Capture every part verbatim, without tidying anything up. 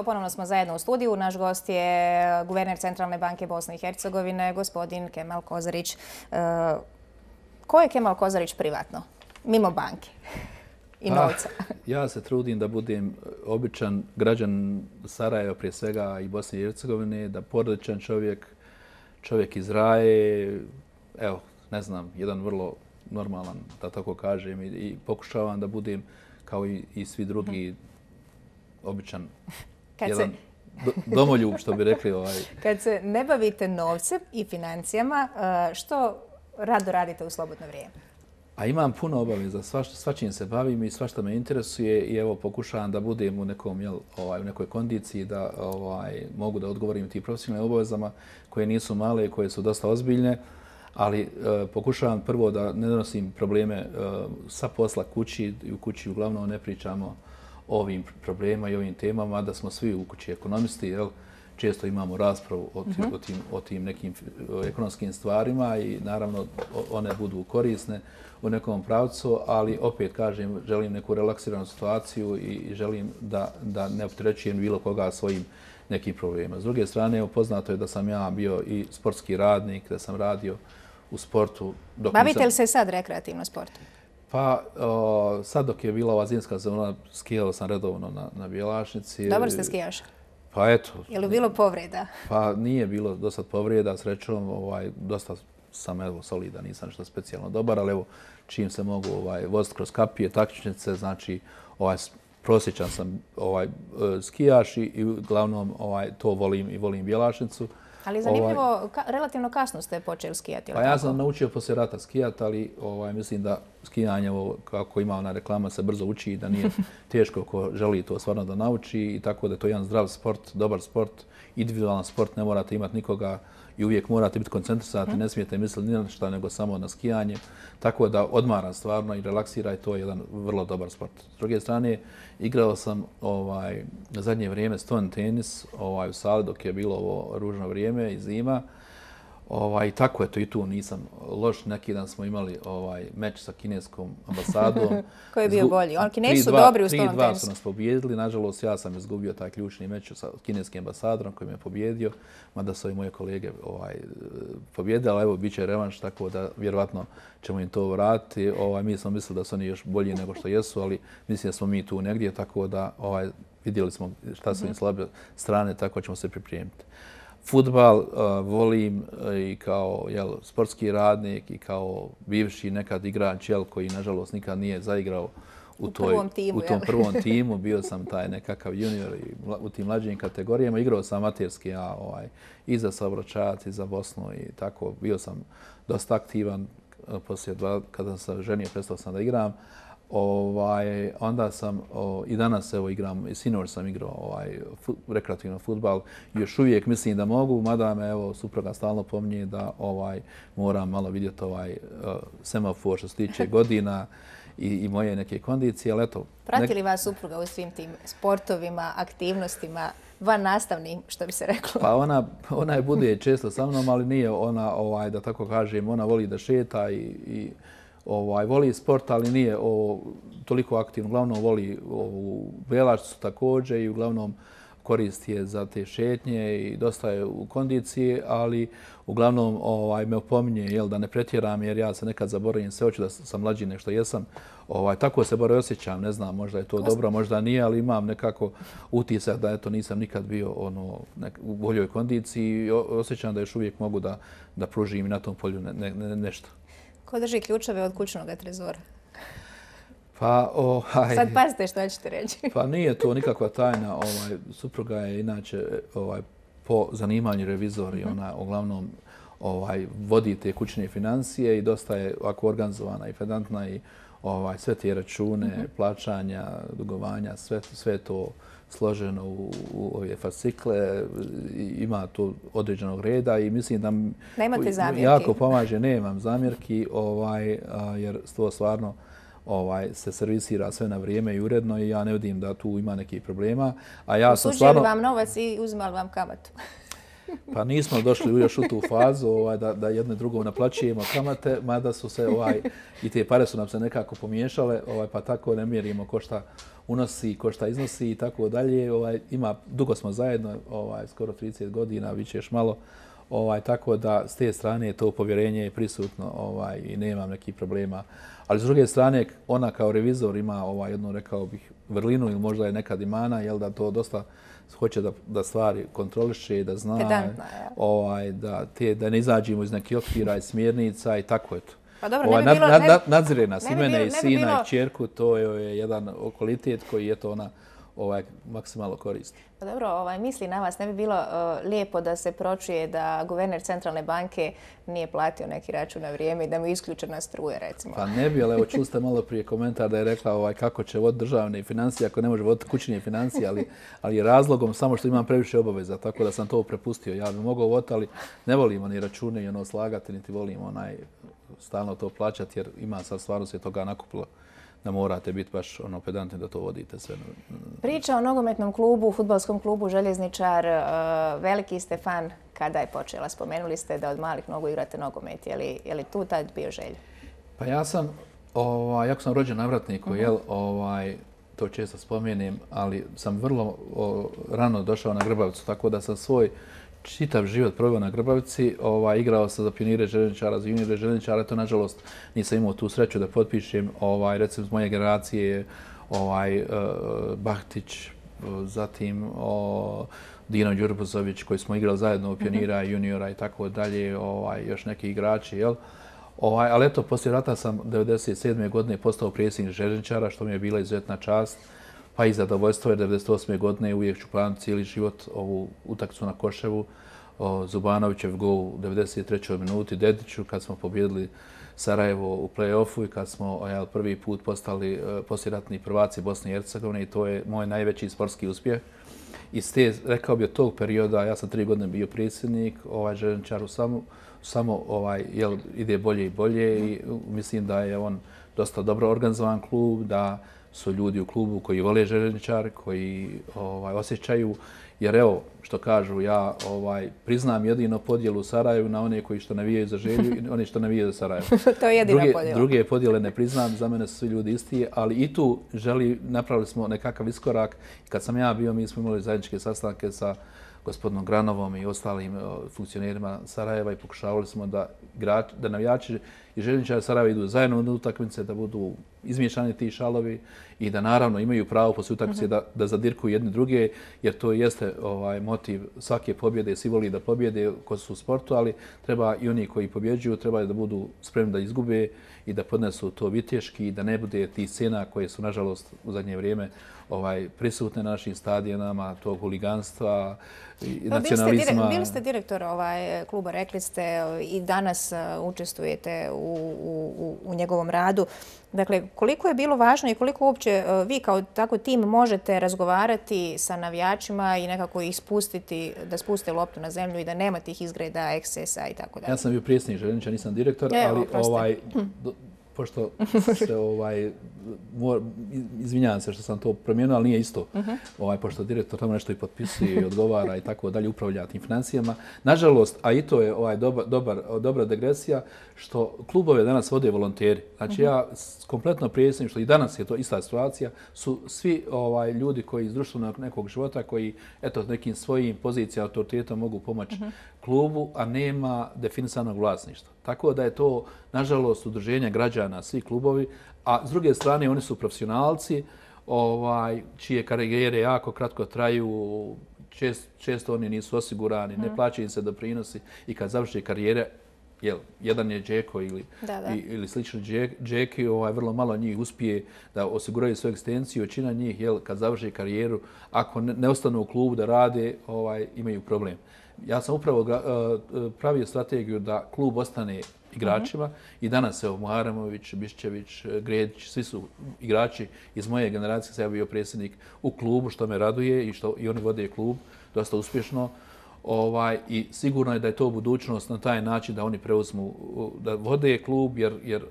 ponovno smo zajedno u studiju. Naš gost je guverner Centralne banke Bosne i Hercegovine, gospodin Kemal Kozarić. Ko je Kemal Kozarić privatno, mimo banke i novca? Ja se trudim da budem običan građan Sarajeva prije svega i Bosne i Hercegovine, da porodičan čovjek, čovjek iz Raje, evo, ne znam, jedan vrlo normalan, da tako kažem, i, i pokušavam da budem kao i, i svi drugi običan, Kad jedan se... do, domoljub, što bi rekli. Ovaj. Kad se ne bavite novcem i financijama, što rado radite u slobodno vrijeme? A imam puno obaveza, svačim se bavim i svašta me interesuje i evo pokušavam da budem u nekom, jel, ovaj, u nekoj kondiciji da ovaj, mogu da odgovorim tim profesionalnim obavezama koje nisu male i koje su dosta ozbiljne, ali e, pokušavam prvo da ne donosim probleme e, sa posla kući i u kući uglavnom ne pričamo o ovim problemima i ovim temama, da smo svi u kući ekonomisti, jel? Često imamo raspravu o, tim, o, tim, o tim nekim ekonomskim stvarima i naravno one budu korisne u nekom pravcu, ali opet kažem, želim neku relaksiranu situaciju i želim da, da ne opterećujem bilo koga svojim nekim problemima. S druge strane, poznato je da sam ja bio i sportski radnik, da sam radio u sportu. Dok Bavite nisam... li se sad rekreativno sportom? Pa o, sad dok je bila ova zimska sezona, skijao sam redovno na, na Bjelašnici. Dobar ste skijaš? Pa eto. Je li bilo povreda? Pa nije bilo dosta povreda, srećom, ovaj, dosta sam evo solidan, nisam nešto specijalno dobar, ali evo čim se mogu ovaj, voziti kroz kapije, takmičnice, znači ovaj, prosječan sam ovaj, skijaš i, i uglavnom ovaj, to volim i volim Bjelašnicu. Ali zanimljivo, ovaj, ka, relativno kasno ste počeli skijati. Pa ja sam naučio poslije rata skijati, ali ovaj, mislim da skijanje, ovo, kako ima ona reklama, se brzo uči i da nije teško ko želi to stvarno da nauči i tako da je to jedan zdrav sport, dobar sport, individualan sport, ne morate imati nikoga i uvijek morate biti koncentrisati, hmm. ne smijete misliti ni na šta nego samo na skijanje. Tako da odmara stvarno i relaksira i to je jedan vrlo dobar sport. S druge strane, igrao sam ovaj, na zadnje vrijeme stone tenis ovaj, u sali dok je bilo ovo ružno vrijeme i zima. Ovaj, tako je to i tu nisam loš. Neki dan smo imali ovaj, meč sa kineskom ambasadom. Ko je bio bolji? On, Kinesi su dobri u stone tenisu. tri dva su nas pobijedili. Nažalost, ja sam izgubio taj ključni meč sa kineskim ambasadorom koji me pobjedio. Mada su i moje kolege ovaj, pobjedili, ali evo, bit će revanš, tako da vjerovatno ćemo im to vratiti. Ovaj, mi smo mislili da su oni još bolji nego što jesu, ali mislim da smo mi tu negdje, tako da ovaj, vidjeli smo šta su im slabe strane, tako ćemo se pripremiti. Fudbal uh, volim uh, i kao jel, sportski radnik i kao bivši nekad igrač jel, koji nažalost nikad nije zaigrao u, u, toj, timu, u tom prvom timu. Bio sam taj nekakav junior i u tim mlađim kategorijama. Igrao sam amaterski ja, ovaj, i za Saobraćajac i za Bosnu i tako. Bio sam dosta aktivan. Poslije dva, kada sam se ženio, prestao sam da igram. Ovaj, onda sam o, i danas evo igram, i sinoć sam igrao ovaj, fut, rekreativno fudbal. Još uvijek mislim da mogu, mada me evo supruga stalno pominje da ovaj, moram malo vidjeti ovaj, uh, semafor što se tiče godina i, i moje neke kondicije. Ali eto, prati li vas supruga u svim tim sportovima, aktivnostima, van nastavnim, što bi se reklo? Pa ona, ona je bude često sa mnom, ali nije ona, ovaj, da tako kažem, ona voli da šeta i, i Ovaj, voli sport, ali nije o, toliko aktivno. Uglavnom voli ovu Bjelašnicu također i uglavnom koristi je za te šetnje i dosta je u kondiciji, ali uglavnom ovaj, me opominje jel, da ne pretjeram jer ja se nekad zaboravim sve, hoću da sam mlađi nego što jesam. Ovaj, tako se bar osjećam, ne znam, možda je to Kost... dobro, možda nije, ali imam nekako utisak da eto, nisam nikad bio ono, nek, u boljoj kondiciji i osjećam da još uvijek mogu da, da pružim i na tom polju ne, ne, ne, nešto. Ko drži ključeve od kućnog trezora? Pa, ovaj, sad pazite što ćete reći. Pa nije to nikakva tajna. Ovaj, supruga je inače ovaj, po zanimanju revizor i ona uglavnom ovaj, vodi te kućne financije i dosta je ovako organizovana i pedantna i ovaj, sve te račune, mm-hmm. plaćanja, dugovanja, sve, sve to složeno u, u ove fascikle, ima to određenog reda i mislim da nemate zamjerki. Jako pomaže, nemam zamjerki, ovaj, jer to stvarno ovaj, se servisira sve na vrijeme i uredno i ja ne vidim da tu ima nekih problema. A ja sam stvarno... vam novac i uzimali vam kamatu? Pa nismo došli još u tu fazu ovaj, da, da jedno drugo naplaćujemo kamate, mada su se ovaj, i te pare su nam se nekako pomiješale, ovaj, pa tako ne mjerimo ko šta unosi, ko šta iznosi i tako dalje. Ovaj, ima, dugo smo zajedno, ovaj, skoro trideset godina, bit će još malo. Ovaj, tako da s te strane to povjerenje je prisutno ovaj, i nemam nekih problema. Ali s druge strane, ona kao revizor ima ovaj, jednu, rekao bih, vrlinu ili možda je nekad i mana, jel da to dosta hoće da, da stvari kontroliše, da zna, Pedantna, ovaj, da, te, da ne izađemo iz nekih okvira i smjernica i tako je to. Pa dobro, ovaj, ne bi bilo, nad, ne, nad, nadzire nas, i ne bi mene bilo- i ne bi sina bilo- i kćerku, to je jedan kvalitet koji je to ona ovaj, maksimalno koristi. Pa dobro, ovaj, misli na vas, ne bi bilo uh, lijepo da se pročuje da guverner centralne banke nije platio neki račun na vrijeme i da mu je isključena struja, recimo. Pa ne bi, ali evo čuli ste malo prije komentar da je rekla ovaj, kako će voditi državne financije ako ne može voditi kućne financije, ali, ali je razlogom samo što imam previše obaveza, tako da sam to prepustio. Ja bih mogao voditi, ali ne volimo ni račune i ono slagati, niti volimo onaj, stalno to plaćati, jer ima sad stvarno se toga nakupilo da morate biti baš ono pedantni da to vodite sve. Priča o nogometnom klubu, fudbalskom klubu Željezničar, uh, veliki ste fan kada je počela. Spomenuli ste da od malih nogu igrate nogomet. Je li, je li tu tad bio želj? Pa ja sam, ovaj, jako sam rođen na Vratniku, uh-huh. jel, ovaj, to često spomenem, ali sam vrlo o, rano došao na Grbavicu, tako da sam svoj čitav život proveo na Grbavici, ovaj, igrao sam za pionire Željezničara, za juniore Željezničara, to nažalost nisam imao tu sreću da potpišem, ovaj, recimo iz moje generacije, ovaj, uh, Bahtić, uh, zatim o, Dino Đurbuzović koji smo igrali zajedno u pionira, mm-hmm. juniora i tako dalje, ovaj, još neki igrači, jel? Ovaj, ali eto, poslije rata sam devedeset sedme godine postao predsjednik Željezničara, što mi je bila izuzetna čast. Pa i zadovoljstvo jer devedeset osme godine uvijek ću pamtiti cijeli život ovu utakmicu na Koševu, o Zubanovićev gol u devedeset trećoj minuti, Dediću kad smo pobjedili Sarajevo u play-offu i kad smo ja, prvi put postali uh, poslijeratni prvaci Bosne i Hercegovine i to je moj najveći sportski uspjeh. I s te, rekao bi od tog perioda, ja sam tri godine bio predsjednik, ovaj Željezničaru samo, samo ovaj, jel, ide bolje i bolje i mislim da je on dosta dobro organizovan klub, da su ljudi u klubu koji vole Željezničar, koji ovaj, osjećaju, jer evo, što kažu, ja ovaj, priznam jedino podjelu u Sarajevu na one koji što navijaju za Želju i one što navijaju za Sarajevo. To je jedina druge, podjela. Druge podjele ne priznam, za mene su svi ljudi isti, ali i tu želi, napravili smo nekakav iskorak. Kad sam ja bio, mi smo imali zajedničke sastanke sa gospodinom Granovom i ostalim funkcionerima Sarajeva i pokušavali smo da, igrač, da navijači i Željezničari Sarajeva idu zajedno na utakmice, da budu izmiješani ti šalovi i da naravno imaju pravo poslije utakmice da, da zadirkuju jedni druge, jer to jeste ovaj, motiv svake pobjede, svi voli da pobjede ko su u sportu, ali treba i oni koji pobjeđuju, treba da budu spremni da izgube i da podnesu to viteški i da ne bude tih scena koje su nažalost u zadnje vrijeme ovaj, prisutne na našim stadionama, tog huliganstva i pa, nacionalizma. Bili ste, bili ste direktor ovaj, kluba, rekli ste i danas učestvujete u, u, u njegovom radu. Dakle, koliko je bilo važno i koliko uopće vi kao tako tim možete razgovarati sa navijačima i nekako ih spustiti, da spuste loptu na zemlju i da nema tih izgreda, ekscesa i tako dalje? Ja sam bio predsjednik Željezničara, nisam direktor, Evo, ali proste. ovaj, do, pošto se ovaj, mor, izvinjavam se što sam to promijenio, ali nije isto. Uh-huh. Ovaj, pošto direktor tamo nešto i potpisuje i odgovara i tako dalje, upravlja tim financijama. Nažalost, a i to je ovaj dobar, dobar, dobra degresija, što klubove danas vode volonteri. Znači uh-huh. ja kompletno prijesnim, što i danas je to ista situacija, su svi ovaj, ljudi koji iz društvenog nekog života, koji eto, nekim svojim pozicijama, autoritetom mogu pomoći uh-huh. klubu, a nema definisanog vlasništva. Tako da je to, nažalost, udruženje građana, svi klubovi, a s druge strane oni su profesionalci, ovaj, čije karijere jako kratko traju, čest, često oni nisu osigurani, mm. ne plaćaju im se doprinosi i kad završi karijere, jel, jedan je Džeko ili, da, da. ili slični Džeki, ovaj, vrlo malo njih uspije da osiguraju svoju egzistenciju, većina njih, jel, kad završi karijeru, ako ne, ne ostanu u klubu da rade, ovaj, imaju problem. Ja sam upravo uh, pravio strategiju da klub ostane igračima mm-hmm. i danas evo Muharemović, Bišćević, Gredić, svi su igrači iz moje generacije, sam ja bio predsjednik u klubu, što me raduje i što i oni vode klub dosta uspješno. Ovaj, I sigurno je da je to budućnost na taj način da oni preuzmu, da vode klub, jer, jer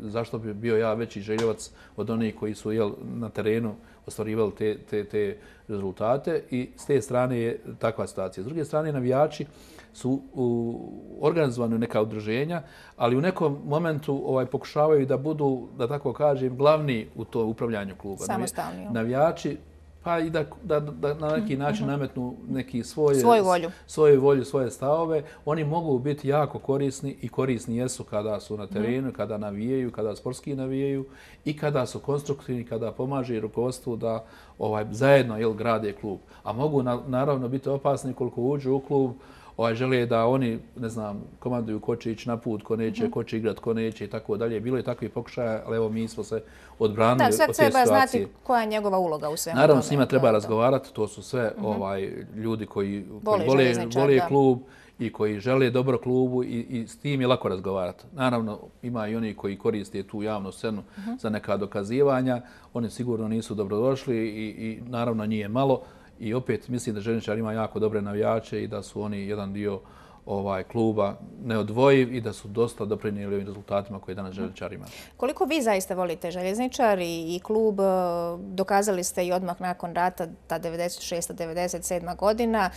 zašto bi bio ja veći željevac od onih koji su jel, na terenu ostvarivali te, te, te rezultate i s te strane je takva situacija. S druge strane, navijači su organizovani u neka udruženja, ali u nekom momentu ovaj, pokušavaju da budu, da tako kažem, glavni u to upravljanju kluba. Samostalni. Navijači pa i da, da, da na neki način nametnu neki svoje, svoju volju. svoju volju, svoje stavove. Oni mogu biti jako korisni i korisni jesu kada su na terenu, mm. kada navijaju, kada sportski navijaju i kada su konstruktivni, kada pomaže rukovodstvu da ovaj, zajedno jel, grade klub. A mogu na, naravno biti opasni koliko uđu u klub, ovaj, žele da oni, ne znam, komanduju ko će ići na put, ko neće, ko će igrat, ko neće i tako dalje. Bilo je takvih pokušaja, ali evo mi smo se odbranili od te situacije. Da, sad treba znati koja je njegova uloga u svemu. Naravno, s njima treba razgovarati, to su sve ovaj, ljudi koji, koji vole, vole klub i koji žele dobro klubu i, i s tim je lako razgovarati. Naravno, ima i oni koji koriste tu javnu scenu za neka dokazivanja. Oni sigurno nisu dobrodošli i, i naravno nije malo. I opet mislim da Željezničar ima jako dobre navijače i da su oni jedan dio ovaj kluba neodvojiv i da su dosta doprinijeli ovim rezultatima koje danas Željezničar ima. Koliko vi zaista volite Željezničar i, i klub, dokazali ste i odmah nakon rata, ta devedeset šesta devedeset sedma godina,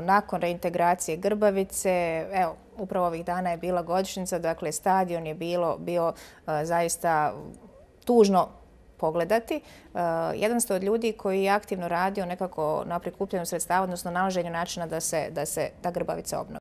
nakon reintegracije Grbavice, evo, upravo ovih dana je bila godišnjica, dakle stadion je bilo, bio zaista tužno pogledati. Uh, jedan ste od ljudi koji je aktivno radio nekako na prikupljanju sredstava, odnosno nalaženju načina da se, da se ta Grbavica obnovi.